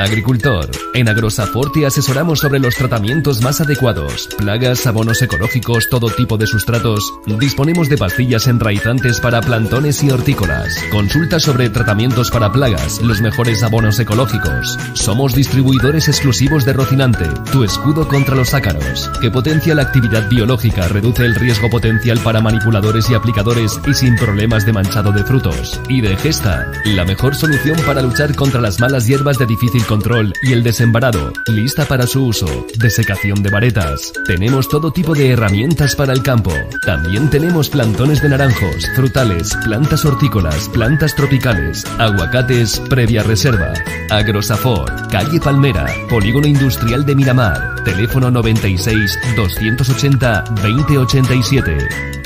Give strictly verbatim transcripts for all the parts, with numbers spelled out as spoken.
Agricultor, en Agrosafor te asesoramos sobre los tratamientos más adecuados, plagas, abonos ecológicos, todo tipo de sustratos. Disponemos de pastillas enraizantes para plantones y hortícolas. Consulta sobre tratamientos para plagas, los mejores abonos ecológicos. Somos distribuidores exclusivos de Rocinante, tu escudo contra los ácaros, que potencia la actividad biológica, reduce el riesgo potencial para manipuladores y aplicadores y sin problemas de manchado de frutos. Y de Gesta, la mejor solución para luchar contra las malas hierbas de difícil control y el desembarado, lista para su uso. Desecación de varetas. Tenemos todo tipo de herramientas para el campo. También tenemos plantones de naranjos, frutales, plantas hortícolas, plantas tropicales, aguacates previa reserva. Agrosafor, calle Palmera, Polígono Industrial de Miramar. Teléfono noventa y seis, doscientos ochenta, veinte ochenta y siete.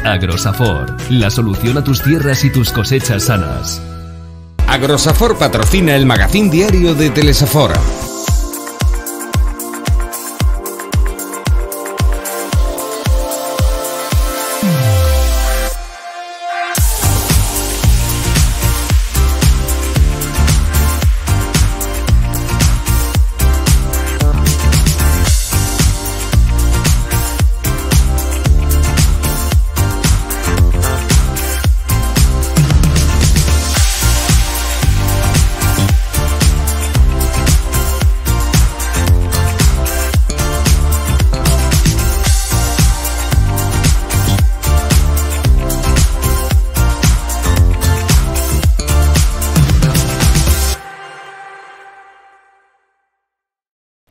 Agrosafor, la solución a tus tierras y tus cosechas sanas. Agrosafor patrocina el magazín diario de Telesafor.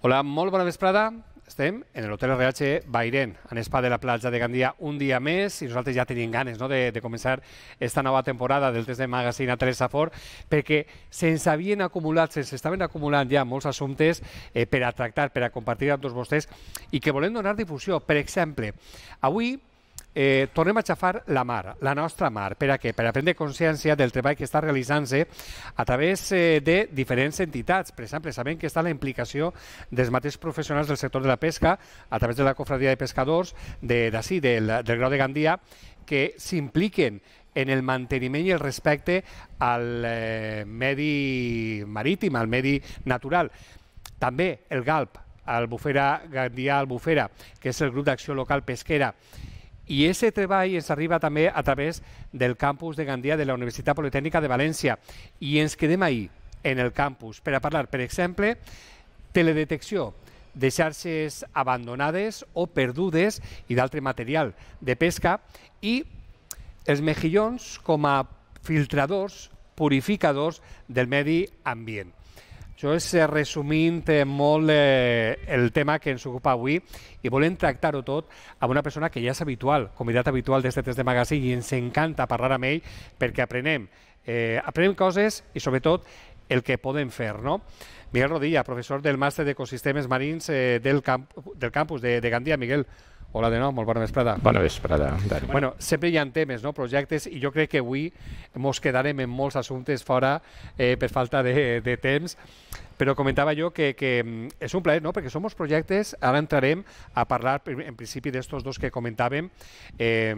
Hola, molt bona vesprada. Estem en l'Hotel R H Bairén, en Spa de la platja de Gandia, un dia més, i nosaltres ja tenim ganes, no?, de, de començar esta nova temporada del test de magazine a Telesafor, perquè se'ns havien acumulat, se'ns estaven acumulant ja molts assumptes eh, per a tractar, per a compartir amb tots vostès, i que volem donar difusió. Per exemple, avui Eh, tornem a xafar la mar, la nostra mar. Per a què? Per a prendre consciència del treball que està realitzant-se a través eh, de diferents entitats. Per exemple, sabem que està la implicació dels mateixos professionals del sector de la pesca a través de la Cofradia de Pescadors d'ací, de, del, del Grau de Gandia, que s'impliquen en el manteniment i el respecte al eh, medi marítim, al medi natural. També el GALP, Albufera Gandia Albufera, que és el grup d'acció local pesquera. I aquest treball ens arriba també a través del campus de Gandia de la Universitat Politècnica de València. I ens quedem ahí, en el campus, per a parlar, per exemple, teledetecció de xarxes abandonades o perdudes i d'altre material de pesca, i els mejillons com a filtradors, purificadors del medi ambient. Això és resumint molt eh, el tema que ens ocupa avui, i volem tractar-ho tot amb una persona que ja és habitual, convidat habitual d'aquest test de magazine, i ens encanta parlar amb ell perquè aprenem, eh, aprenem coses i sobretot el que podem fer, no? Miguel Rodilla, professor del màster d'Ecosistemes Marins eh, del, camp, del campus de, de Gandia. Miguel, hola de nou, molt bona vesprada. Bona vesprada, Dani. Bueno, sempre hi ha temes, no?, projectes, i jo crec que avui ens quedarem en molts assumptes fora eh, per falta de, de temps, però comentava jo que, que és un plaer, no?, perquè som uns projectes, ara entrarem a parlar en principi d'estos dos que comentàvem, eh,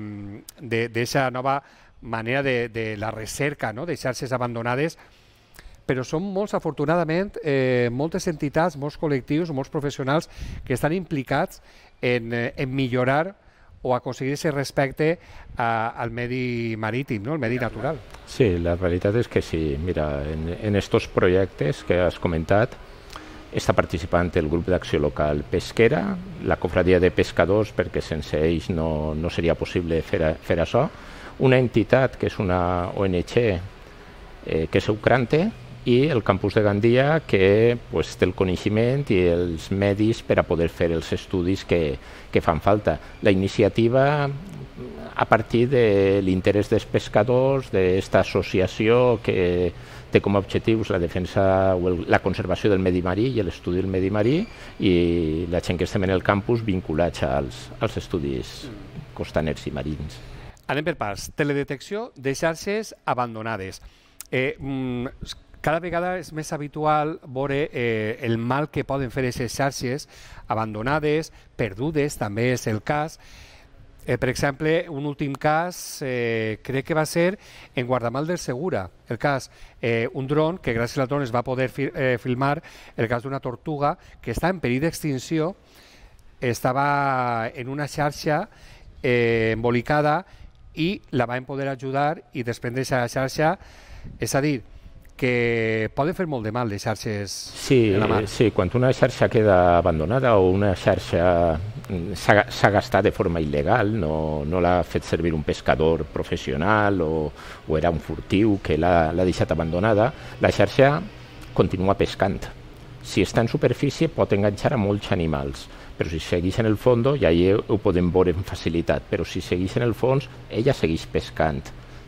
d'aquesta nova manera de, de la recerca, no?, de xarxes abandonades, però són molts, afortunadament, eh, moltes entitats, molts col·lectius, molts professionals que estan implicats en, en millorar o aconseguir aquest respecte a, al medi marítim, no?, el medi natural. Sí, la realitat és que sí. Mira, en estos projectes que has comentat està participant el grup d'acció local pesquera, la Cofradia de Pescadors, perquè sense ells no, no seria possible fer, fer això, una entitat que és una O N G eh, que és Eucrante, i el campus de Gandia, que pues, té el coneixement i els medis per a poder fer els estudis que, que fan falta. La iniciativa, a partir de l'interès dels pescadors, d'aquesta associació que té com a objectius la defensa o el, la conservació del medi marí i l'estudi del medi marí, i la gent que estem en el campus vinculats als, als estudis costaners i marins. Anem per parts. Teledetecció de xarxes abandonades. Eh, mm, Cada vegada és més habitual veure eh, el mal que poden fer aquestes xarxes abandonades, perdudes, també és el cas. Eh, per exemple, un últim cas, eh, crec que va ser en Guardamal del Segura, el cas, eh, un dron, que gràcies al dron es va poder fi eh, filmar el cas d'una tortuga que està en perill d'extinció, estava en una xarxa eh, embolicada i la van poder ajudar i desprendre aquesta xarxa, és a dir, que poden fer molt de mal les xarxes sí, en la mar. Sí, quan una xarxa queda abandonada o una xarxa s'ha gastat de forma il·legal, no, no l'ha fet servir un pescador professional o, o era un furtiu que l'ha deixat abandonada, la xarxa continua pescant. Si està en superfície pot enganxar a molts animals, però si segueix en el fons, ja ho podem veure amb facilitat, però si segueix en el fons, ella segueix pescant,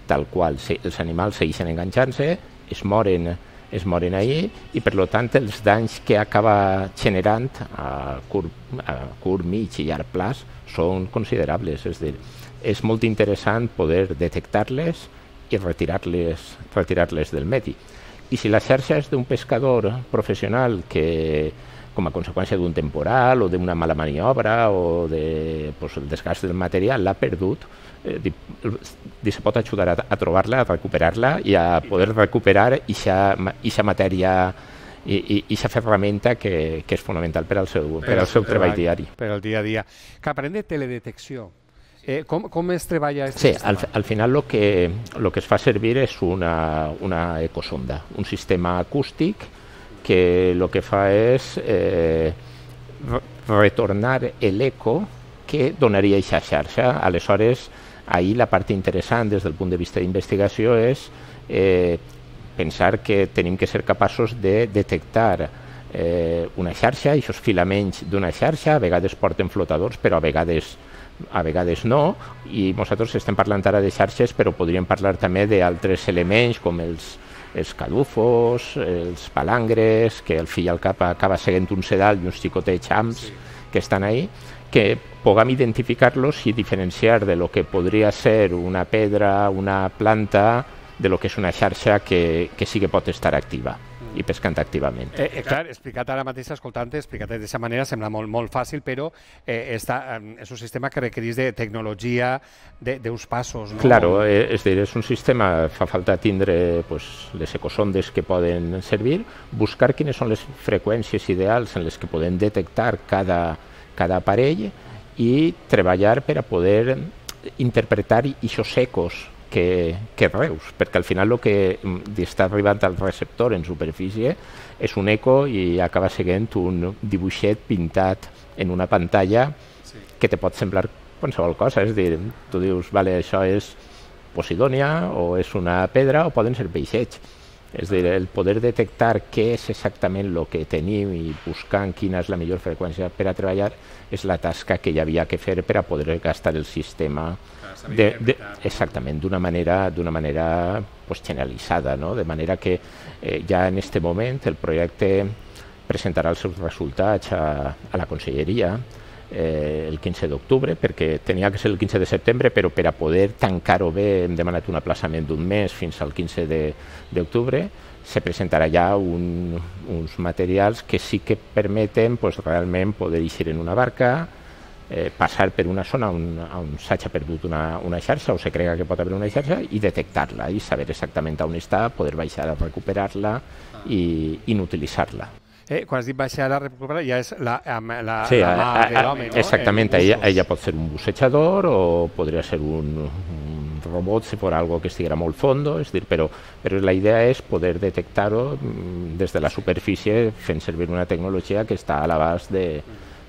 tal qual, els animals segueixen enganxant-se, es moren, es moren ahir i per tant els danys que acaba generant a curt, a curt, mig i llarg plaç són considerables. És dir, és molt interessant poder detectar-les i retirar-les retirar-les del medi. I si la xarxa és d'un pescador professional que, com a conseqüència d'un temporal o d'una mala maniobra o de, pues, el desgast del material, l'ha perdut, eh, se pot ajudar a, a trobar-la, a recuperar-la i a poder recuperar aquesta matèria i aquesta ferramenta que, que és fonamental per al seu, per al seu treball diari. Per al dia a dia. Que parlem de teledetecció. Eh, com, com es treballa aquest sí, sistema? Al, al final el que, lo que es fa servir és una, una ecosonda, un sistema acústic que el que fa és eh, retornar l'eco que donaria aquesta xarxa. Aleshores, ahir la part interessant des del punt de vista d'investigació és eh, pensar que tenim que ser capaços de detectar eh, una xarxa, i aquests filaments d'una xarxa, a vegades porten flotadors, però a vegades a vegades no, i nosaltres estem parlant ara de xarxes, però podríem parlar també d'altres elements com els, els cadufos, els palangres, que al fi i al cap acaba seguint un sedal i uns xicotets xams sí. que estan ahí, que puguem identificar-los i diferenciar de lo que podria ser una pedra, una planta, de lo que és una xarxa que, que sí que pot estar activa i pescant activament. Eh, eh, clar, explicat ara mateix, escoltant-te, explicat d'aquesta manera sembla molt, molt fàcil, però eh, està, eh, és un sistema que requereix de tecnologia, d'uns passos. No? Claro, eh, és, dir, és un sistema, fa falta tindre pues, les ecosondes que poden servir, buscar quines són les freqüències ideals en les que podem detectar cada, cada aparell i treballar per a poder interpretar aquests ecos que, que reus, perquè al final el que està arribant al receptor en superfície és un eco i acaba sent un dibuixet pintat en una pantalla sí. que te pot semblar qualsevol cosa, és dir, tu dius, vale, això és Posidònia o és una pedra o poden ser peixets. És dir, el poder detectar què és exactament el que tenim i buscant quina és la millor freqüència per a treballar és la tasca que hi havia que fer per a poder gastar el sistema de, de, exactament, d'una manera, d'una manera pues, generalitzada, no? De manera que eh, ja en aquest moment el projecte presentarà els seus resultats a, a la Conselleria eh, el quinze d'octubre, perquè tenia que ser el quinze de setembre, però per a poder tancar-ho bé hem demanat un aplaçament d'un mes fins al quinze d'octubre. Se presentarà ja un, uns materials que sí que permeten pues, realment poder eixir en una barca, eh, passar per una zona on, on s'hagi perdut una, una xarxa o se crega que pot haver una xarxa i detectar-la i saber exactament on està, poder baixar a recuperar-la i inutilitzar-la. Eh, quan has dit baixar a recuperar ja és la, la, la, sí, la mà de l'home, no? Exactament, ella, ella pot ser un bussejador o podria ser un, un robot si fos algo que estiguera molt fondo, és dir, però, però la idea és poder detectar-ho des de la superfície fent servir una tecnologia que està a l'abast de,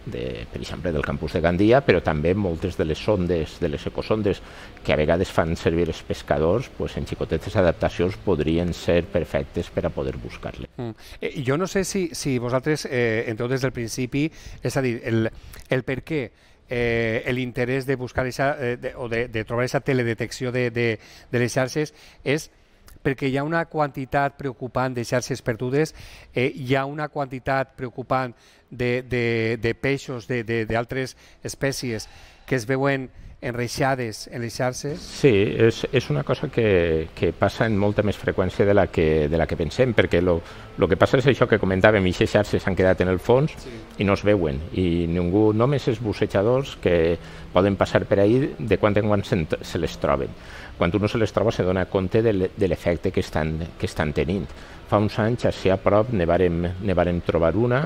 de, per exemple, del campus de Gandia, però també moltes de les sondes, de les ecosondes que a vegades fan servir els pescadors, pues, en xicotetes adaptacions podrien ser perfectes per a poder buscar-les. Mm. Eh, jo no sé si, si vosaltres, eh, entreu des del principi, és a dir, el, el per què eh, l'interès de buscar esa, eh, de, o de, de trobar aquesta teledetecció de, de, de les xarxes és perquè hi ha una quantitat preocupant de xarxes perdudes, eh, hi ha una quantitat preocupant de, de, de peixos d'altres espècies que es veuen enreixades en les xarxes? Sí, és, és una cosa que, que passa amb molta més freqüència de la que, de la que pensem, perquè lo, lo que passa és això que comentàvem, i aquestes xarxes s'han quedat en el fons sí. i no es veuen, i ningú, només els bussejadors que poden passar per ahí de quan en quan se, se les troben. Quan uno se les troba se dona compte de l'efecte que estan, que estan tenint. Fa uns anys, així a prop, ne vàrem, ne vàrem trobar una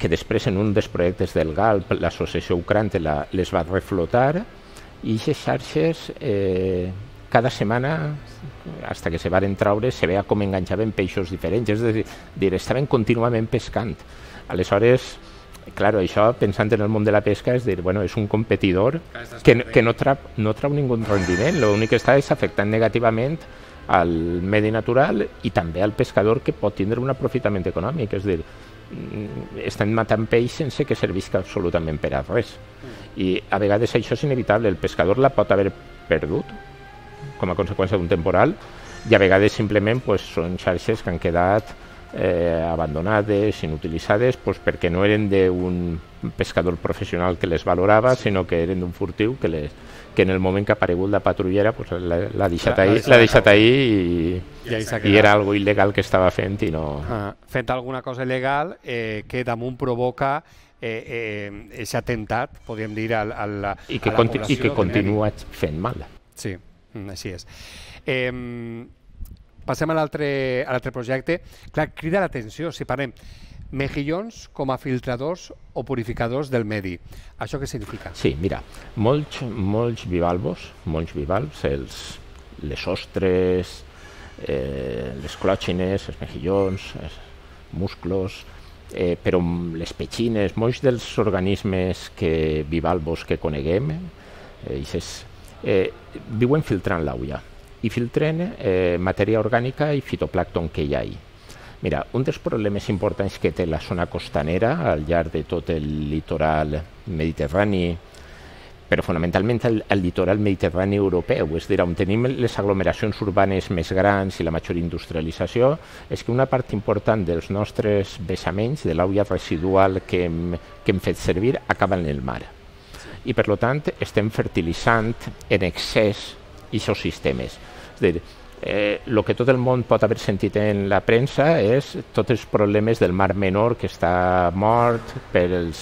que després en un dels projectes del GALP, l'associació Ucrante la, les va reflotar, i aquestes xarxes eh, cada setmana, fins que se varen traure, se veia com enganxaven peixos diferents, és a dir, estaven contínuament pescant. Aleshores, clar, això, pensant en el món de la pesca, és dir, bueno, és un competidor que, que no, trau, no trau ningú rendiment, l'únic que està és afectant negativament al medi natural i també al pescador, que pot tindre un aprofitament econòmic, és a dir, estan matant peix sense que servisca absolutament per a res. I a vegades això és inevitable, el pescador la pot haver perdut com a conseqüència d'un temporal, i a vegades simplement pues, són xarxes que han quedat eh, abandonades, inutilitzades, pues, perquè no eren d'un pescador professional que les valorava, sinó que eren d'un furtiu que, les, que en el moment que ha aparegut la patrullera pues, l'ha deixat ahí, l'ha deixat ahí i, I, i era algo il·legal que estava fent i no... Ah, fent alguna cosa il·legal eh, que damunt provoca eh, eh, atemptat, podríem dir, al, al, I que, a la conti població. I que continua fent mal. Sí, així és. Eh, passem a l'altre projecte. Clar, crida l'atenció, si parlem mejillons com a filtradors o purificadors del medi. Això què significa? Sí, mira, molts, molts bivalvos, molts bivalvs, els, les ostres, eh, les clòxines, els mejillons, els musclos, eh, però les petxines, molts dels organismes que, bivalvos que coneguem, eh, és, eh, viuen filtrant l'aigua i filtren eh, matèria orgànica i fitoplàncton que hi ha ahí. Mira, un dels problemes importants que té la zona costanera al llarg de tot el litoral mediterrani, però fonamentalment el, el litoral mediterrani europeu, és a dir, on tenim les aglomeracions urbanes més grans i la major industrialització, és que una part important dels nostres vessaments, de l'aigua residual que hem, que hem fet servir, acaba en el mar. I per tant estem fertilitzant en excés aquests sistemes. És a dir, el eh, que tot el món pot haver sentit en la premsa és tots els problemes del Mar Menor, que està mort per, els,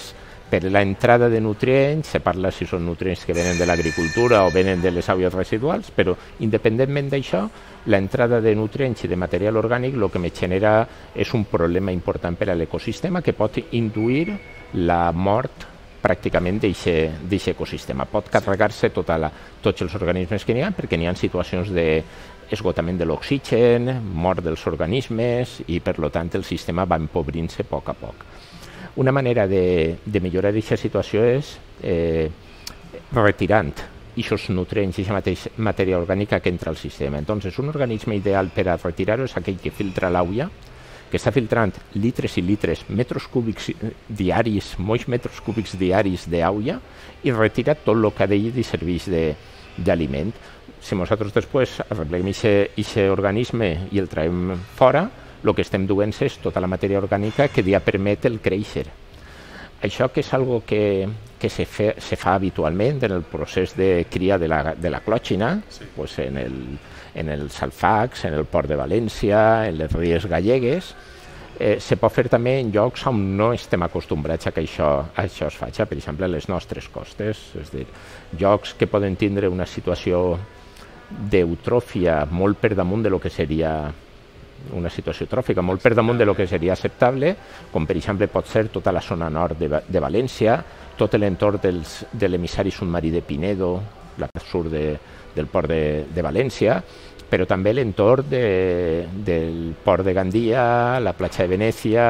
per la entrada de nutrients, se parla si són nutrients que venen de l'agricultura o venen de les aigües residuals, però independentment d'això, l'entrada de nutrients i de material orgànic el que me genera és un problema important per a l'ecosistema que pot induir la mort pràcticament d'aquest ecosistema. Pot carregar-se tota la, tots els organismes que n'hi ha, perquè n'hi ha situacions d'esgotament de l'oxigen, mort dels organismes i, per tant, el sistema va empobrint-se a poc a poc. Una manera de, de millorar aquesta situació és eh, retirant aquests nutrients i aquesta matèria orgànica que entra al sistema. Entonces, un organisme ideal per a retirar-ho és aquell que filtra l'aigua, que està filtrant litres i litres, metres cúbics diaris, molts metres cúbics diaris d'aigua i retira tot el que d'ell li serveix d'aliment. Si nosaltres després arreglem aquest organisme i el traiem fora, el que estem duent és tota la matèria orgànica que ja permet el créixer. Això que és algo que, que se, fe, se fa habitualment en el procés de cria de la, de la clòxina, sí. Pues en el en els alfacs, en el Port de València, en les ries gallegues, eh, se pot fer també en llocs on no estem acostumbrats a que això, a això es faci, per exemple, a les nostres costes, és a dir, llocs que poden tindre una situació d'eutròfia molt per damunt de lo que seria una situació tròfica, molt per damunt de lo que seria acceptable, com per exemple pot ser tota la zona nord de, de València, tot l'entorn de l'emissari submarí de Pinedo, la sur de, del port de, de València, però també l'entorn de, del port de Gandia, la platja de Venècia,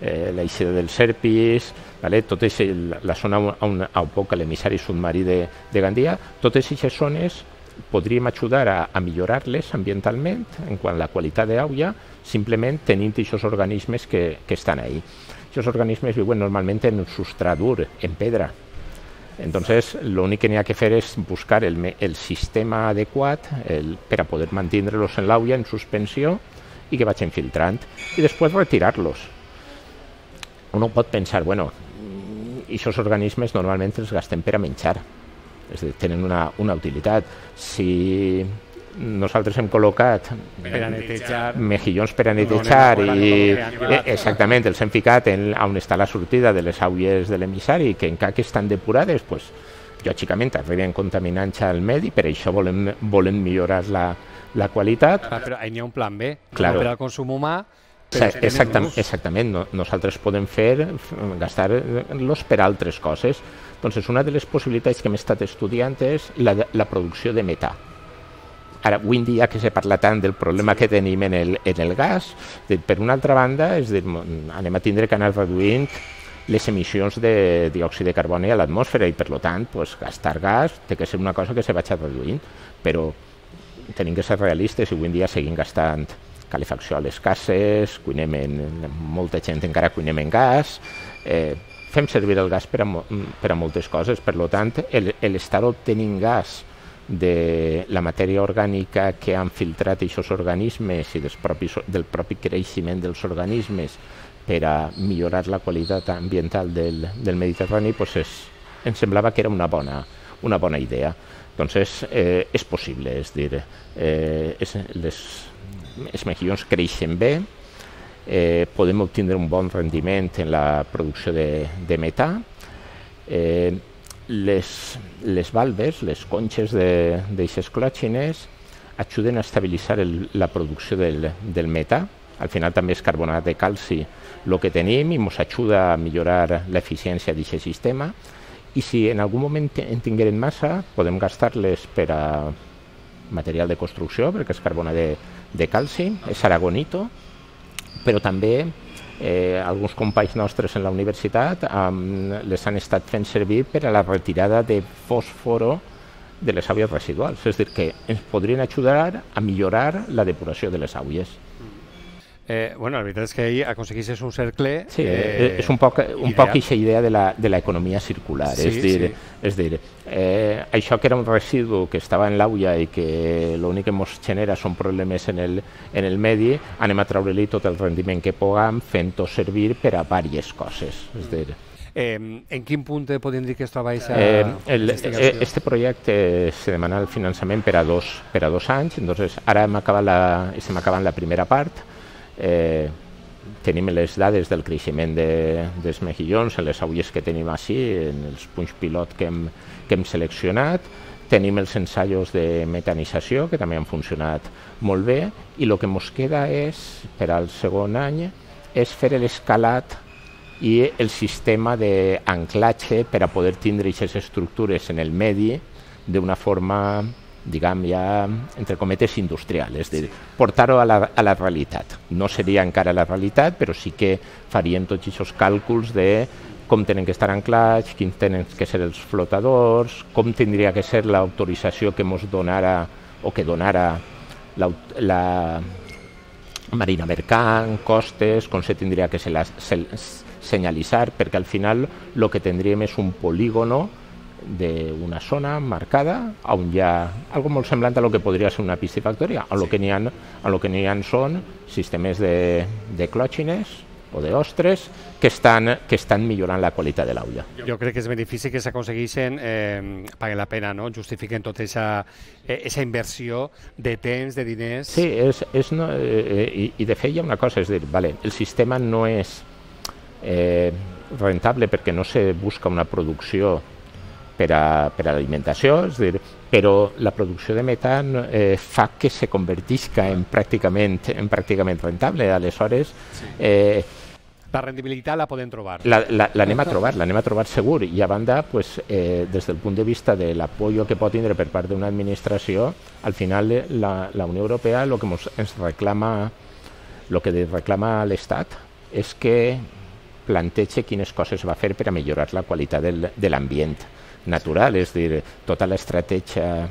eh, l'eixida dels Serpis, vale? Tot és el, la zona on, on poc l'emissari submarí de, de Gandia, totes aquestes zones podríem ajudar a, a millorar-les ambientalment en quant a la qualitat d'aigua, simplement tenint aquests organismes que, que estan ahí. Aquests organismes viuen normalment en un substrat dur, en pedra. Entonces, lo único que n'hi ha que fer és buscar el, el sistema adequat el, per a poder mantenir-los en l'aigua en suspensió i que vagin filtrant i després retirar-los. Uno pot pensar, bueno, aquests organismes normalment els gastem per a menjar, és a dir, tenen una, una utilitat. Si nosaltres hem col·locat Per a netejar. mejillons per a netejar No, no, no, i no, no, no, no. exactament els hem ficat en, on està la sortida de les aigües de l'emissari, que encara que estan depurades, pues, lògicament arriben contaminants al medi, per això volem, volem millorar la, la qualitat. Ah, però hi ha un plan B, Claro. no per al consum humà, Sa- però Exactam, ús. exactament, no, nosaltres podem fer, f- gastar-los per altres coses. Doncs una de les possibilitats que hem estat estudiant és la, de- la producció de metà. Ara, avui en dia que se parla tant del problema que tenim en el, en el gas, de, per una altra banda, és dir, anem a tindre que anar reduint les emissions de diòxid de carboni a l'atmosfera i, per tant, pues, gastar gas té que ser una cosa que se vagi reduint, però tenim que ser realistes i avui en dia seguim gastant calefacció a les cases, cuinem en, molta gent encara cuinem en gas, eh, fem servir el gas per a, mo- per a moltes coses, per tant, el- l'estar obtenint gas de la matèria orgànica que han filtrat aquests organismes i dels propis, del propi creixement dels organismes per a millorar la qualitat ambiental del, del Mediterrani, pues és, em semblava que era una bona, una bona idea. Doncs és, eh, és possible, és dir, eh, és, les, els mejillons creixen bé, eh, podem obtindre un bon rendiment en la producció de, de metà, eh, les, les valves, les conxes d'aixes clòxines ajuden a estabilitzar el, la producció del, del metà. Al final també és carbonat de calci el que tenim i ens ajuda a millorar l'eficiència d'aquest sistema. I si en algun moment en tinguem massa, podem gastar-les per a material de construcció, perquè és carbonat de, de calci, és aragonito, però també eh, alguns companys nostres en la universitat um, les han estat fent servir per a la retirada de fòsforo de les aigües residuals, és a dir, que ens podrien ajudar a millorar la depuració de les aigües. Eh, bueno, la veritat és que ahir aconseguissis un cercle... Sí, eh, és un poc, un ideal. poc aquesta idea de la, de l'economia circular, Sí, és dir, sí. és dir eh, això que era un residu que estava en l'aigua i que l'únic que ens genera són problemes en el, en el medi, anem a treure-li tot el rendiment que puguem fent-ho servir per a diverses coses. És dir, Eh, en quin punt podem dir que es troba aquesta Eh, el, investigació? eh, este projecte se demana el finançament per a dos, per a dos anys, entonces ara hem acabat la, estem acabant la primera part, eh, tenim les dades del creixement de, dels mejillons en les aigües que tenim així, en els punts pilot que hem, que hem seleccionat, tenim els ensaios de metanització que també han funcionat molt bé i el que ens queda és, per al segon any, és fer l'escalat i el sistema d'anclatge per a poder tindre aquestes estructures en el medi d'una forma, diguem, ja, entre cometes, industrial, és a dir, portar-ho a, la, a la realitat. No seria encara la realitat, però sí que farien tots aquests càlculs de com tenen que estar anclats, quins tenen que ser els flotadors, com tindria que ser l'autorització que ens donara o que donara la, la Marina Mercant, costes, com se tindria que ser la, se, senyalitzar, perquè al final el que tindríem és un polígono d'una zona marcada on hi ha algo molt semblant a lo que podria ser una piscifactoria, a lo que n'hi ha, a lo que n'hi ha són sistemes de, de clòxines o d'ostres que estan, que estan millorant la qualitat de l'aigua. Jo crec que els beneficis que s'aconsegueixen eh, paguen la pena, no? Justifiquen tota aquesta eh, inversió de temps, de diners... Sí, és, és no, eh, i, i de fet hi ha una cosa, és dir, vale, el sistema no és eh, rentable perquè no se busca una producció per a, per a l'alimentació, és dir, però la producció de metan eh, fa que se convertisca en pràcticament, en pràcticament rentable. Aleshores, eh, La rendibilitat la podem trobar. l'anem la, la a trobar, l'anem a trobar segur, i a banda, pues, eh, des del punt de vista de l'apoyo que pot tindre per part d'una administració, al final la, la Unió Europea el que mos, ens reclama, el que reclama l'Estat és que plantege quines coses va fer per a millorar la qualitat del, de l'ambient natural, és a dir, tota l'estratègia,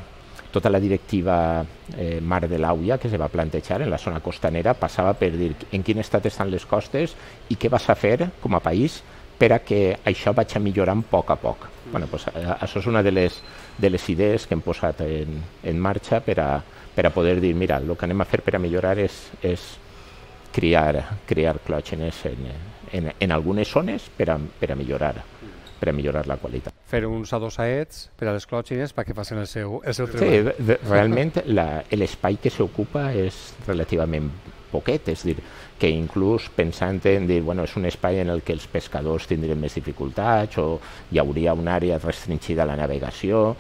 tota la directiva eh, Mar de l'Auia que se va plantejar en la zona costanera passava per dir en quin estat estan les costes i què vas a fer com a país per a que això vagi millorant a poc a poc. Mm. Bueno, pues, això és una de les, de les idees que hem posat en, en marxa per a, per a poder dir, mira, el que anem a fer per a millorar és, és criar, criar clògenes en, en, en algunes zones per a, per a millorar per a millorar la qualitat. Fer uns adosaets per a les clòtxines perquè facin el seu, el seu treball. Sí, de, realment l'espai que s'ocupa és relativament poquet, és dir, que inclús pensant en dir, bueno, és un espai en el que els pescadors tindrien més dificultats o hi hauria una àrea restringida a la navegació,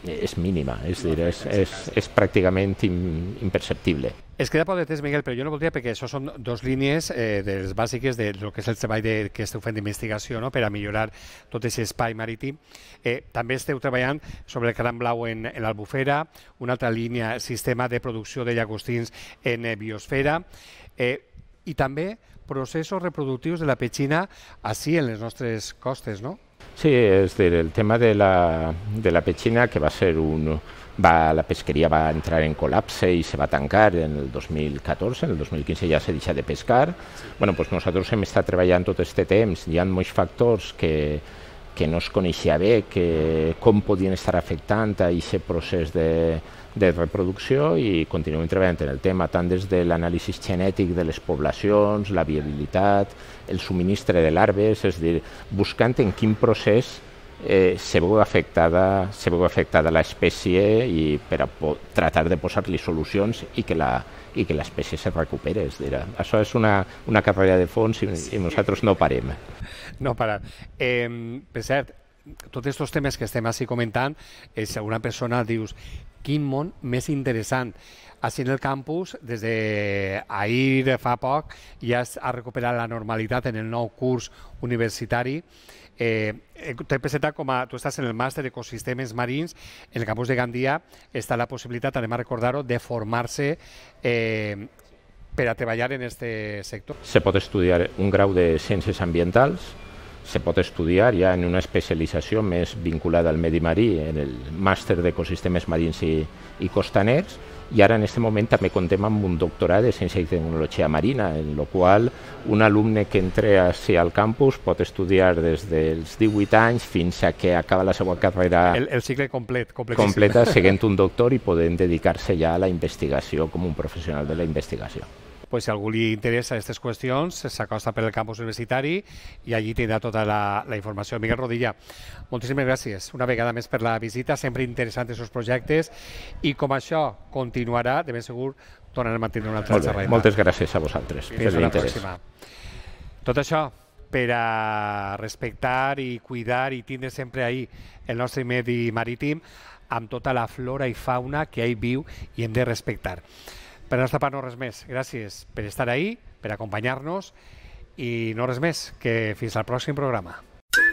és mínima, és dir, és, és, és pràcticament imperceptible. Es queda poc de temps, Miguel, però jo no voldria, perquè això són dos línies eh, de les bàsiques de lo que és el treball de, que esteu fent d'investigació, no?, per a millorar tot aquest espai marítim. Eh, també esteu treballant sobre el cranc blau en, en l'Albufera, una altra línia, sistema de producció de llagostins en eh, biosfera, eh, i també processos reproductius de la petxina així en les nostres costes, no? Sí, és dir, el tema de la, de la petxina, que va ser un... Va, la pesqueria va entrar en col·lapse i se va tancar en el dos mil catorze, en el dos mil quinze ja s'ha deixat de pescar. Bueno, pues nosaltres hem estat treballant tot aquest temps, hi ha molts factors que, que no es coneixia bé, que com podien estar afectant a aquest procés de, de reproducció, i continuem treballant en el tema, tant des de l'anàlisi genètic de les poblacions, la viabilitat, el subministre de larves, és a dir, buscant en quin procés Eh, se veu afectada, se veu afectada l'espècie i per a tratar de posar-li solucions i que la i que l'espècie se recuperi. És dir, això és una, una carrera de fons i, i nosaltres no parem. No parar. Eh, per cert, tots aquests temes que estem així comentant, eh, si alguna persona dius, quin món més interessant. Així en el campus, des d'ahir fa poc, ja ha recuperat la normalitat en el nou curs universitari. Eh, T'he presentat com a... Tu estàs en el màster d'ecosistemes marins, en el campus de Gandia està la possibilitat, anem a recordar-ho, de formar-se eh, per a treballar en aquest sector. Se pot estudiar un grau de ciències ambientals, se pot estudiar ja en una especialització més vinculada al medi marí, en el màster d'ecosistemes marins i, i costaners, i ara en aquest moment també contem amb un doctorat de Ciència i Tecnologia Marina, en el qual un alumne que entra al campus pot estudiar des dels divuit anys fins a que acaba la seva carrera el, el cicle complet, completa, seguint un doctor i podent dedicar-se ja a la investigació com un professional de la investigació. Pues si a algú li interessa aquestes qüestions, s'acosta per el campus universitari i allí tindrà tota la, la informació. Miguel Rodilla, moltíssimes gràcies una vegada més per la visita, sempre interessants els seus projectes, i com això continuarà, de ben segur tornarem a tindre una altra xerrada. Moltes gràcies a vosaltres per l'interès. Tot això per a respectar i cuidar i tindre sempre ahí el nostre medi marítim amb tota la flora i fauna que hi viu i hem de respectar. Per la nostra part no res més. Gràcies per estar ahí, per acompanyar-nos i no res més, que fins al pròxim programa.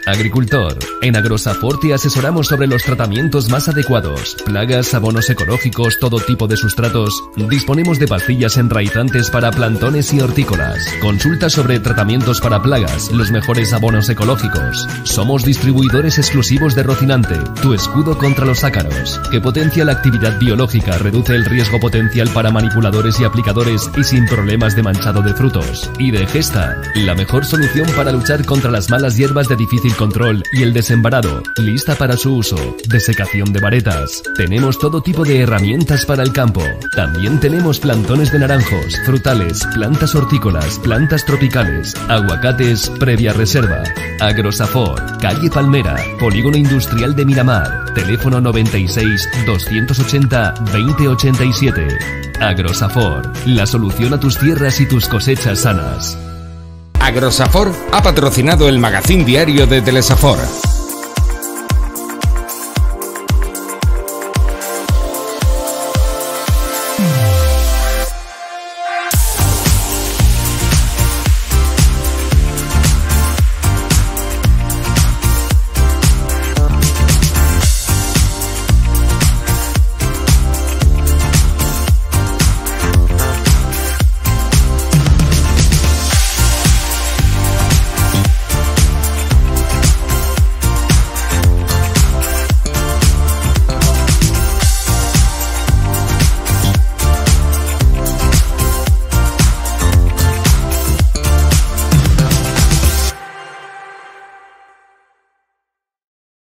Agricultor. En Agrosafor te asesoramos sobre los tratamientos más adecuados. Plagas, abonos ecológicos, todo tipo de sustratos. Disponemos de pastillas enraizantes para plantones y hortícolas. Consulta sobre tratamientos para plagas, los mejores abonos ecológicos. Somos distribuidores exclusivos de Rocinante, tu escudo contra los ácaros, que potencia la actividad biológica, reduce el riesgo potencial para manipuladores y aplicadores y sin problemas de manchado de frutos. Y de Gesta, la mejor solución para luchar contra las malas hierbas de difícil control y el desembarado, lista para su uso. Desecación de varetas. Tenemos todo tipo de herramientas para el campo. También tenemos plantones de naranjos, frutales, plantas hortícolas, plantas tropicales, aguacates previa reserva. Agrosafor, calle Palmera, Polígono Industrial de Miramar. Teléfono noventa y seis, doscientos ochenta, veinte ochenta y siete. Agrosafor, la solución a tus tierras y tus cosechas sanas. Agrosafor ha patrocinado el magazín diario de Telesafor.